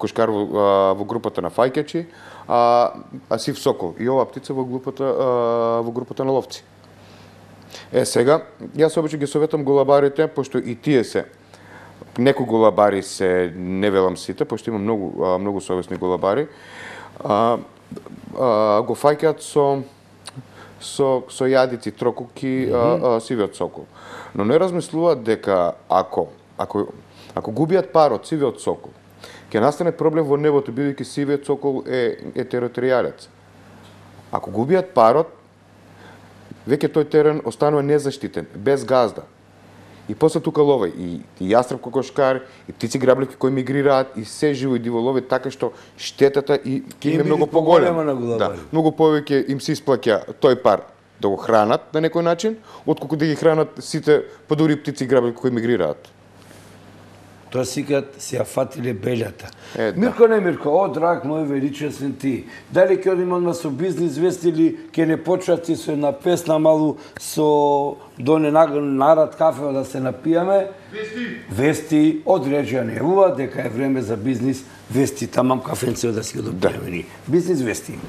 кошкар во групата на фајкачи, а сив сокол и оваа птица во групата на ловци. Сега, јас обично ги советам голабарите, пошто и тие се некои голабари се, не велам сите, пошто има многу совесни голабари, го фаќаат со јадици, трокуки, сивиот сокол. Но не размислуваат дека ако губиат парот сивиот сокол, ќе настане проблем во небото, бидејќи сивиот сокол е територијалец. Ако губиат парот, веќе тој терен останува незаштитен, без газда. И после тука лове и јастреб кокошкар, и птици грабливки кои мигрираат, и се живо и диво лове, така што штетата и ќе им е многу поголема. Да, многу повеќе им се исплаќа тој пар да го хранат на некој начин, отколку да ги хранат сите подобри птици и грабливки кои мигрираат. Тоа сикат се ја фатиле белјата. Мирко, не Мирко, о, драг мој величесен ти, дали ќе одиме одма со бизнис вести или ќе не почати со една песна малу со доне нарад кафе да се напијаме? Вести од Реџија Невува дека е време за бизнис вести, тамам кафенцево да си го допијаме ни. Бизнис вести.